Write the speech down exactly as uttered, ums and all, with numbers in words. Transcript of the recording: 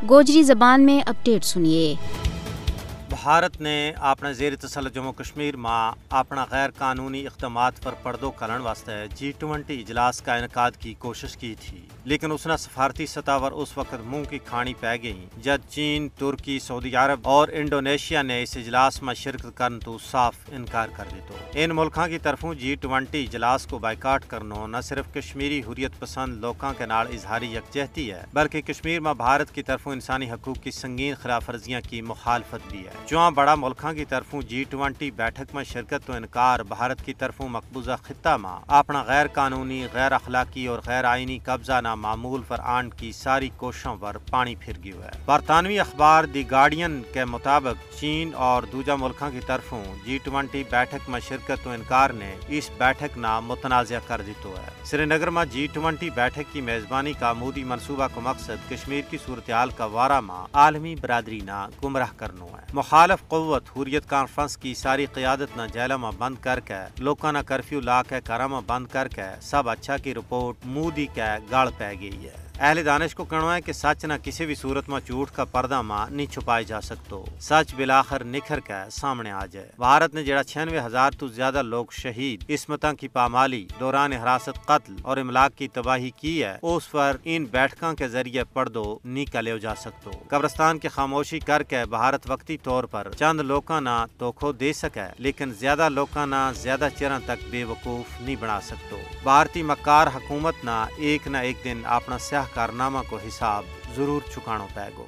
گوجری زبان میں اپڈیٹ سنیے۔ بھارت نے اپنے زیر تسلط جموں کشمیر ما اپنا غیر قانونی اقدامات پر پردو کرن واسطے جی ٹوئنٹی اجلاس کا انعقاد کی کوشش کی تھی، لیکن اس نا سفارتی سطح پر اس وقت منہ کی کھانی پے گئی جد چین، ترکی، سعودی عرب اور انڈونیشیا نے اس اجلاس ما شرکت کرن تو صاف انکار کر دیتو۔ ان ملکاں کی طرفوں جی ٹوئنٹی اجلاس کو بائیکاٹ کرنو نہ صرف کشمیری حریت پسند لوکاں کے نال اظہاری یکجہتی ہے، بلکہ کشمیر ما بھارت کی طرفوں انسانی حقوق کی سنگین خلاف ورزیاں کی مخالفت بھی ہے۔ چواں بڑا ملکاں کی طرفوں جی ٹوئنٹی بیٹھک ما شرکت تو انکار بھارت کی طرفوں مقبوضہ خطہ ما اپنا غیر قانونی، غیر اخلاقی اور غیر آئینی قبضہ نا معمول پر آنڈ کی ساری کوششوں پر پانی پھر گیو ہے۔ برطانوی اخبار دی گارڈین کے مطابق چین اور دوجہ ملکاں کی طرفوں جی ٹوئنٹی بیٹھک ما شرکت تو انکار نے اس بیٹھک نا متنازعہ کر دیتو ہے۔ سری نگر ما جی ٹوئنٹی بیٹھک کی میزبانی کا مودی منصوبہ کو مقصد کشمیر کی صورتحال کا وارہ ما عالمی برادری نا گمراہ کرنو ہے۔ مخالف قوت حریت کانفرنس کی ساری قیادت نا جیلہ ما بند کر کے، لوکاں نا کرفیو لا کے گھراں ما بند کر کے سب اچھا کی رپورٹ مودی کے گل پے گئی ہے۔ اہل دانش کو کہنو ہے کہ سچ نا کسی بھی صورت ما جھوٹ کا پردہ ما نہیں چھپائے جا سکتو۔ سچ بالآخر نکھر کے سامنے آ جائے۔ بھارت نے جڑا چھیانوے ہزار تو زیادہ لوگ شہید، عصمتاں کی پامالی، دوران حراست قتل اور املاک کی تباہی کی ہے، اس پر ان بیٹھکاں کے ذریعے پڑدو نہیں کلیو جا سکتو۔ قبرستان کی خاموشی کر کے بھارت وقتی طور پر چند لوکاں نا دھوکھو دے سکے، لیکن زیادہ لوکاں نا زیادہ چیراں تک بے وقوف نہیں بنا سکتو۔ بھارتی مکار حکومت نا ایک نہ ایک دن اپنا سیاہ کارنامہ کو حساب ضرور چکانو پے گو۔